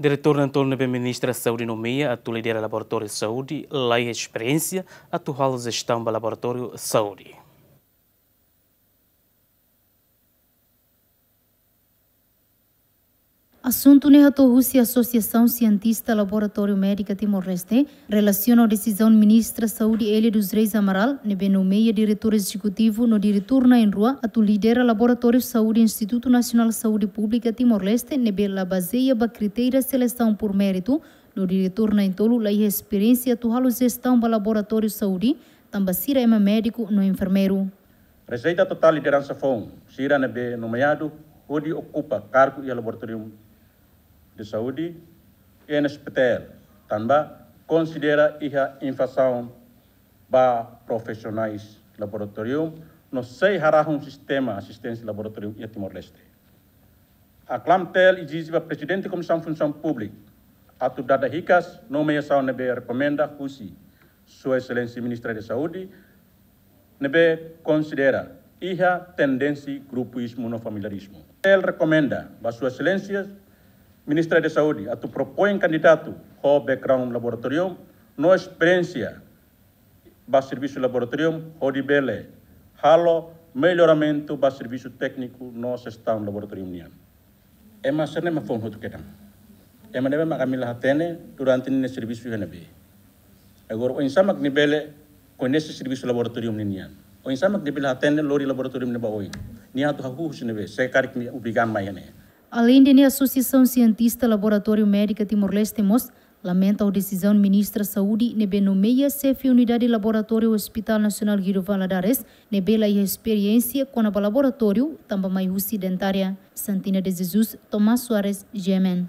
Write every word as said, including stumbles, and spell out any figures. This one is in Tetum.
Diretór na'in-tolu ne'ebé Ministra Saúde nomeia atu lidera Laboratóriu Saúde la iha esperiénsia atu halo jestaun ba laboratóriu saúde. Asuntu ne'e hato'o husi Asosiasaun Sientista Laboratóriu Médika Timor-Leste relasiona ho desizaun Ministra Saúde Elia dos Reis Amaral ne'ebé nomeia diretór ezekutivu no diretór na'in-rua atu lidera Laboratóriu Saúde Institutu Nasionál Saúde Públika Timor-Leste ne'ebé la bazeia ba kritéria selesaun por méritu, no diretór na'in-tolu la iha esperiénsia atu halo jestaun ba laboratóriu saúde, tanba sira ema médiku no enfermeiru. Rejeita totál lideransa foun sira ne'ebé nomeadu hodi okupa kargu iha Laboratóriu de Saúde, N S P T L, tanba konsidera iha invazaun ba profisionais laboratóriu no sei harahun sistema asisténsia laboratóriu iha Timor-Leste. ACLAM-T L ezije ba Prezidente Komisaun Funsaun Públika atu dada hikas nomeasaun ne'ebé rekomenda husi Sua Exelénsia Ministra de Saúde, ne'ebé konsidera iha tendénsia grupuizmu no familiarizmu. T L rekomenda ba Sua Exelénsia Ministra de Saúde atu propoin kandidatu ho background laboratóriu no esperiénsia ba servisu laboratóriu hodi bele halo melloramentu ba servisu tékniku no jestaun laboratóriu nian. Ema sira-ne'e mak foun hotu kedan. Ema ne'ebé mak ami la hatene durante ninia servisu iha ne'ebé. Agora, oinsá mak nia bele koñese servisu laboratóriu ninian? Oinsá mak nia bele hatene lori laboratóriu ne'e ba oin? Nia atu hahú husi ne'ebé, se karik nia obriga mai iha ne'e? Aleinde ne'e, Asosiasaun Sientista Laboratóriu Médika Timor-Leste mós lamenta ho desizaun Ministra Saúde ne'ebé nomeia xefe unidade laboratóriu Hospital Nasionál Guido Valadares ne'ebé la iha esperiénsia kona-ba laboratóriu, tanba mai husi dentária. Santina de Jesus, Tomás Soares, G M N.